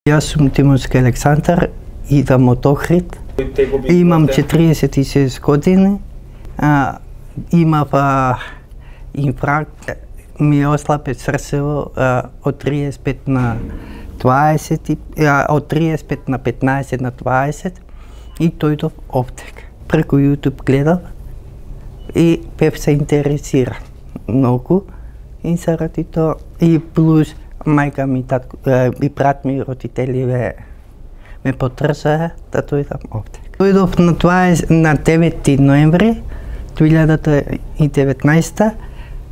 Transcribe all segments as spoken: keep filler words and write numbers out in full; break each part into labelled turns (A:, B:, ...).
A: Јас сум Тимовски Александар, идам од Охрид. Имам четириесет и шест години. А, имав а, инфаркт, ми ослабе срцево а, од триесет и пет на дваесет, а, од триесет и пет на петнаесет на дваесет и дојдов овде. Преку YouTube гледав и бев се интересира многу и заради тоа и плюс мајка ми, татко, и брат ми, родители ме, ме потрсаа да дојдам овде. Дојдов на, дваесет, на девети ноември две илјади и деветнаесета.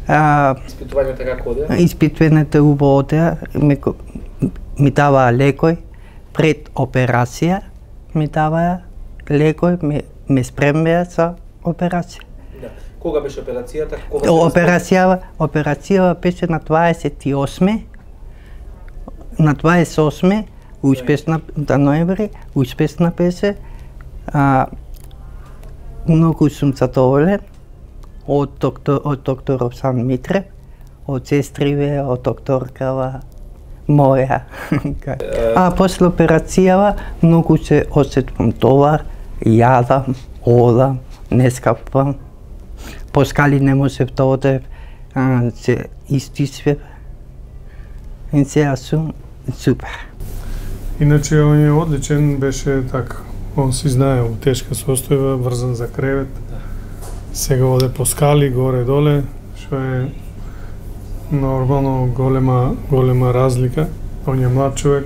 A: А,
B: Испитувањето како одеа?
A: Испитувањето убаво одеа, ми, ми даваа лекој пред операција, ми даваа лекој, ме, ме спремеа за операција.
B: Да. Кога беше операцијата? Кога
A: операцијава, операцијава беше на дваесет и осми на дваесет и осми успешна да ноември, успешна беше. А, многу сум задоволен од доктор од доктор Сан Митре, од сестриве, од докторкава моја. А после операцијава многу се осетувам товар, јадам, одам, не скапвам. По скали не можев да одев, се истисвев. И сега сум супер.
C: Иначе он е одличен, беше така. Он си знае, у тешка состојба, врзан за кревет. Сега оде по скали, горе-доле, што е нормално голема, голема разлика. Он е млад човек.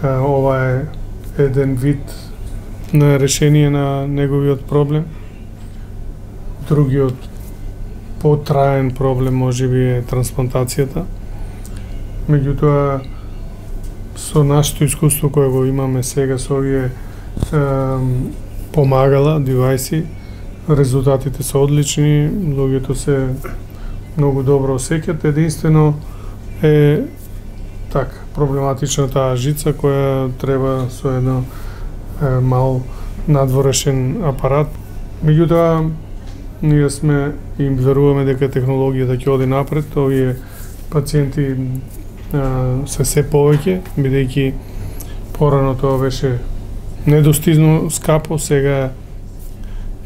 C: Ова е еден вид на решение на неговиот проблем. Другиот потраен проблем можеби е трансплантацијата. Меѓутоа, со нашето искуство кое го имаме сега со овие помагала, девајси, резултатите се одлични, луѓето се многу добро осеќаат. Единствено е така проблематична таа жица која треба со едно е, мал надворешен апарат. Меѓутоа, ние сме им веруваме дека технологијата ќе оди напред, овие пациенти е, се се повеќе, бидејќи порано тоа беше недостижно скапо, сега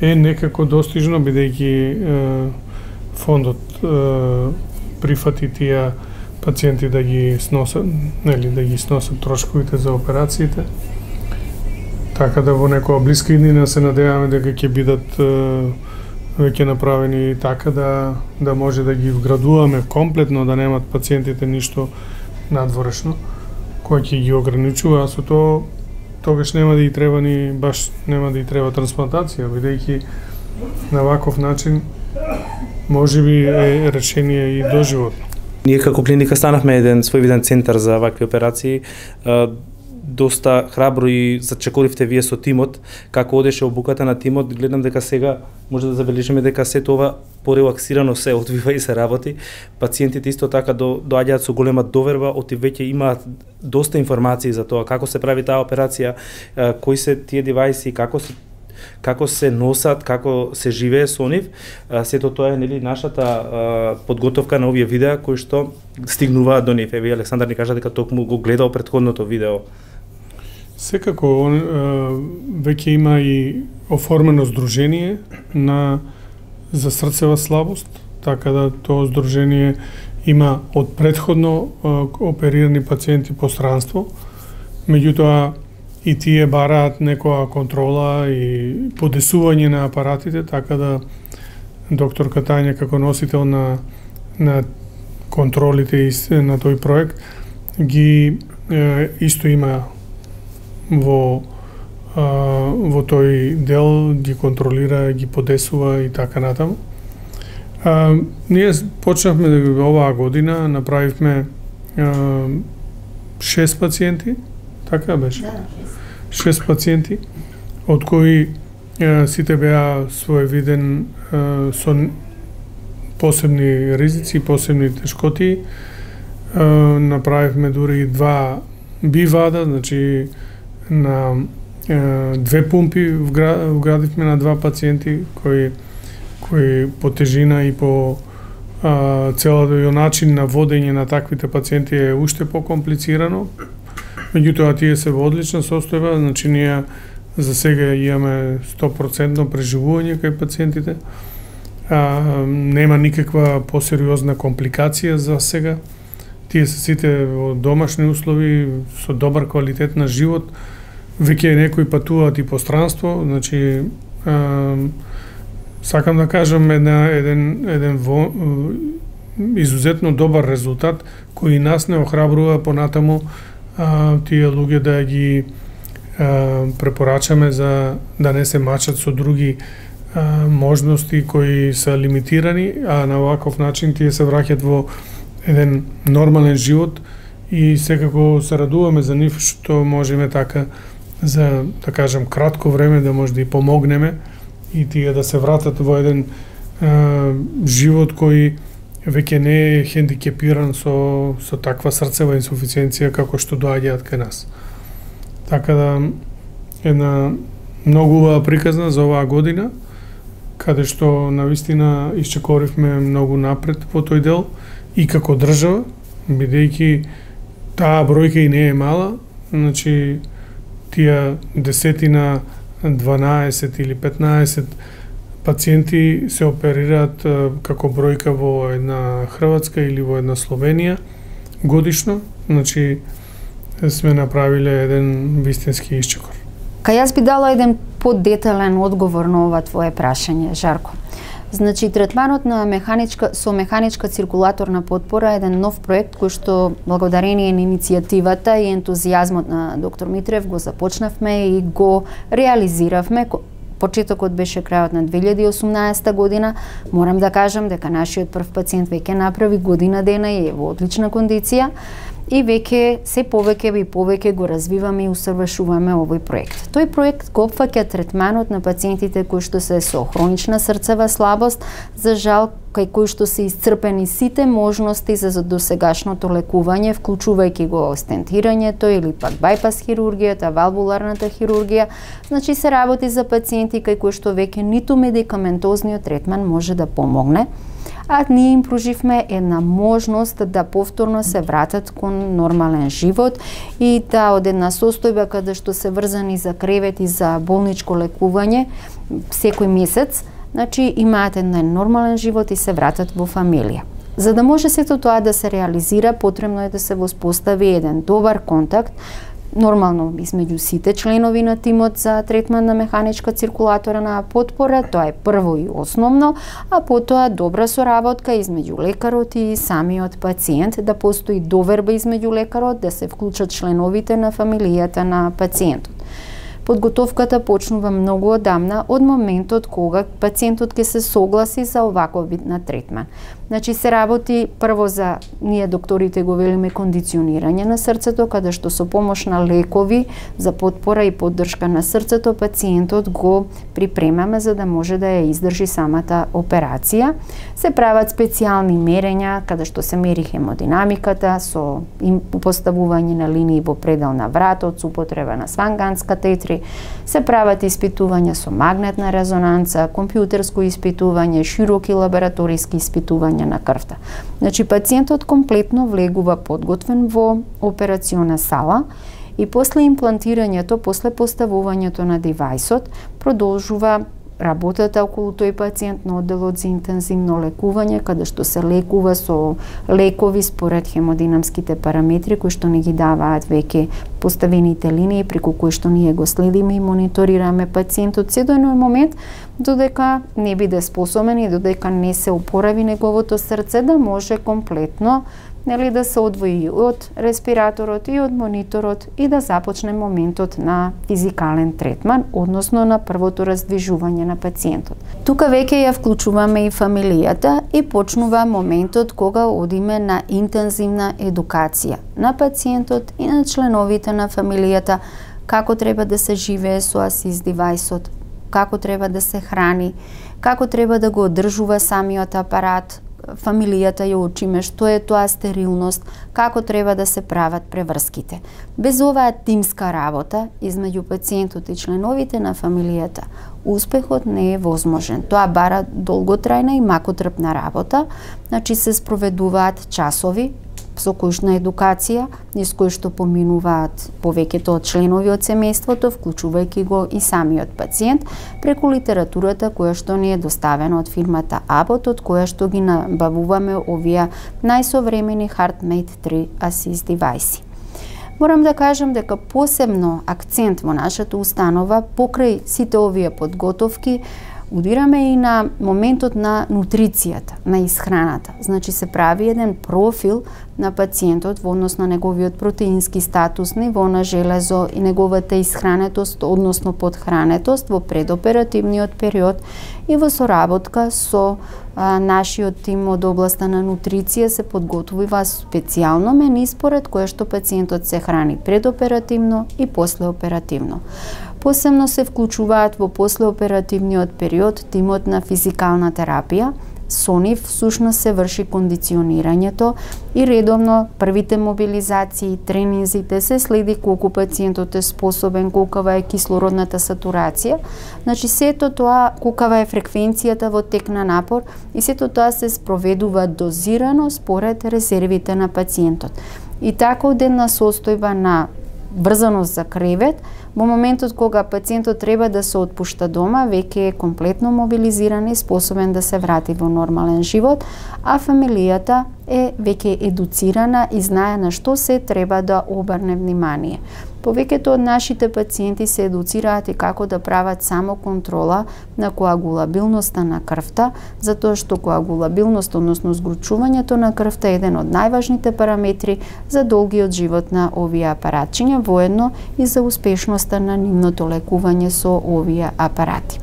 C: е некако достижно, бидејќи фондот е, прифати тие пациенти да ги сносат, нели, да ги сносат трошковите за операциите. Така да во некоја блиска иднина се надеваме дека ќе бидат е, веќе направени така да да може да ги вградуваме комплетно, да немат пациентите ништо надворешно кој ќе ги ограничува, а со тоа тогаш нема да и треба ни баш нема да и треба трансплантација, бидејќи на ваков начин можеби е решение и доживотно.
B: Ние како клиника станавме еден својвиден центар за вакви операции. Доста храбро и зачекоривте вие со тимот, како одеше обуката на тимот. Гледам дека сега може да забележиме дека се тоа порелаксирано се одвива и се работи. Пациентите исто така до, доаѓаат со голема доверба, оти веќе имаат доста информации за тоа како се прави таа операција, кои се тие девајси, како се како се носат, како се живее со нив. Сето тоа е нели нашата подготовка на овие видеа кои што стигнуваат до нив. Еве Александар ни кажа дека токму го гледал претходното видео.
C: Секако он веќе има и оформено здружение на за срцева слабост, така да тоа здружение има од претходно оперирани пациенти по странство. Меѓутоа и тие бараат некоја контрола и подесување на апаратите, така да докторка Тања како носител на на контролите на тој проект ги е, исто има во а, во тој дел, ги контролира, ги подесува и така натаму. А, ние почнавме да оваа година, направивме а, шест пациенти, така беше? Да, шест пациенти, од кои а, сите беа своевиден а, со посебни ризици, посебни тешкоти. А, направивме дури и два бивада, значи на е, две пумпи вградивме на два пациенти кои кои по тежина и по а, целото начин на водење на таквите пациенти е уште покомплицирано. Меѓутоа тие се во одлична состојба, значи ние за сега имаме сто проценти преживување кај пациентите. А, нема никаква посериозна компликација за сега. Тие се сите во домашни услови, со добар квалитет на живот. Веќе некои патуваат и по странство, значи а, сакам да кажам една, еден, еден во, изузетно добар резултат кој нас не охрабрува понатаму а, тие луѓе да ги а, препорачаме за да не се мачат со други а, можности кои се лимитирани, а на оваков начин тие се враќаат во еден нормален живот и секако се радуваме за нив што можеме така за, да кажам, кратко време да може да и помогнеме и тие да се вратат во еден а, живот кој веќе не е хендикепиран со, со таква срцева инсуфициенција како што доаѓаат кај нас. Така да, една многу убава приказна за оваа година, каде што навистина исчекоривме многу напред во тој дел и како држава, бидејќи таа бројка и не е мала, значи тие десетина, дванаесет или петнаесет пациенти се оперираат како бројка во една Хрватска или во една Словенија годишно, значи сме направиле еден вистински исчекор.
D: Кај јас би дала еден подетален одговор на ова твое прашање, Жарко. Значи, третманот на механичка, со механичка циркулаторна потпора е еден нов проект кој што благодарение на иницијативата и ентузијазмот на доктор Митрев го започнавме и го реализиравме. Почетокот беше крајот на две илјади и осумнаесета година. Морам да кажам дека нашиот прв пациент веќе направи година дена и е во одлична кондиција и веќе се повеќе и повеќе го развиваме и усовршуваме овој проект. Тој проект го опфаќа третманот на пациентите кои што се со хронична срцева слабост, за жал кај кои што се исцрпени сите можности за досегашното лекување, вклучувајќи го стентирањето или пак бајпас хирургијата, валвуларната хирургија. Значи се работи за пациенти кај кои што веќе ниту медикаментозниот третман може да помогне, а ние им пруживме една можност да повторно се вратат кон нормален живот и да од една состојба каде што се врзани за кревет и за болничко лекување секој месец, значи имаат еден нормален живот и се вратат во фамилија. За да може сето тоа да се реализира, потребно е да се воспостави еден добар контакт, нормално измеѓу сите членови на тимот за третман на механичка циркулаторна потпора, тоа е прво и основно, а потоа добра соработка измеѓу лекарот и самиот пациент, да постои доверба измеѓу лекарот, да се вклучат членовите на фамилијата на пациентот. Подготовката почнува многу одамна, од моментот кога пациентот ќе се согласи за оваков вид на третман. Значи се работи прво за, ние докторите го велиме, кондиционирање на срцето, каде што со помош на лекови за потпора и поддршка на срцето пациентот го припремаме за да може да ја издржи самата операција. Се прават специјални мерења каде што се мери хемодинамиката со поставување на линии во предел на вратот, со употреба на сванганск катетри, се прават испитувања со магнетна резонанца, компјутерско испитување, широки лабораториски испитувања на крвта. Значи пациентот комплетно влегува подготвен во операциона сала и после имплантирањето, после поставувањето на девајсот, продолжува работата околу тој пациент на одделот за интензивно лекување, каде што се лекува со лекови според хемодинамските параметри кои што не ги даваат веќе поставените линии, преку кои што ние го следиме и мониторираме пациентот се до еден момент додека не биде способен и додека не се опорави неговото срце да може комплетно, нели, да се одвои од респираторот и од мониторот и да започне моментот на физикален третман, односно на првото раздвижување на пациентот. Тука веќе ја вклучуваме и фамилијата и почнува моментот кога одиме на интензивна едукација на пациентот и на членовите на фамилијата како треба да се живее со асист девајсот, како треба да се храни, како треба да го одржува самиот апарат, фамилијата ја учиме што е тоа стерилност, како треба да се прават преврските. Без оваа тимска работа измеѓу пациентот и членовите на фамилијата, успехот не е возможен. Тоа бара долготрајна и макотрпна работа, значи се спроведуваат часови со којшна едукација, низ кој што поминуваат повеќето од членови од семејството, вклучувајќи го и самиот пациент, преку литературата која што ни е доставена од фирмата Abbott, од која што ги набавуваме овие најсовремени HeartMate три Assist девајси. Морам да кажам дека посебно акцент во нашата установа, покрај сите овие подготовки, удираме и на моментот на нутрицијата, на исхраната. Значи се прави еден профил на пациентот во однос на неговиот протеински статус, ниво на железо и неговата исхранетост, односно подхранетост во предоперативниот период и во соработка со а, нашиот тим од областа на нутриција се подготвува специјално мени според кое што пациентот се храни предоперативно и послеоперативно. Посебно се вклучуваат во послеоперативниот период тимот на физикална терапија. Со нив всушност се врши кондиционирањето и редовно првите мобилизации, тренинзите се следи колку пациентот е способен, колкава е кислородната сатурација. Значи сето тоа, колкава е фреквенцијата во тек на напор и сето тоа се спроведува дозирано според резервите на пациентот. И така од една состојба на врзаност за кревет, во моментот кога пациентот треба да се отпушта дома, веќе е комплетно мобилизиран и способен да се врати во нормален живот, а фамилијата е веќе едуцирана и знае на што се треба да обрне внимание. Повеќето од нашите пациенти се едуцираат и како да прават само контрола на коагулабилноста на крвта, затоа што коагулабилност, односно згручувањето на крвта е еден од најважните параметри за долгиот живот на овие апаратчиња, воедно и за успешноста на нивното лекување со овие апарати.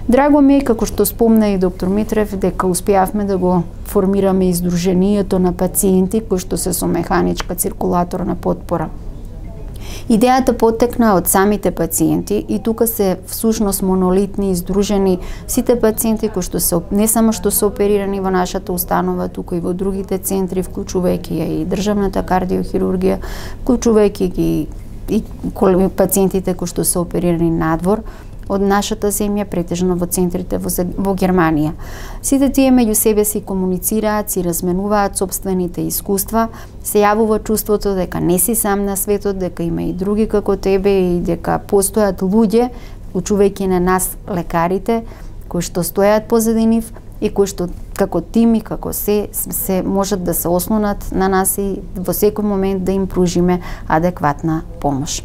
D: Драго ми е, како што спомна и доктор Митрев, дека успеавме да го формираме издруженијето на пациенти кои што се со механичка циркулаторна потпора. Идејата потекна од самите пациенти и тука се всушност монолитни издружени сите пациенти кои што се не само што се оперирани во нашата установа, туку и во другите центри, вклучувајќи и државната кардиохирургија, вклучувајќи ги и пациентите кои што се оперирани надвор од нашата земја, претежно во центрите во, во Германија. Сите тие меѓу себе си комуницираат, си разменуваат собствените искуства, се јавува чувството дека не си сам на светот, дека има и други како тебе и дека постојат луѓе, вклучувајќи на нас лекарите, кои што стојат позади нив и кои што како тим и како се, се можат да се ослонат на нас и во секој момент да им пружиме адекватна помош.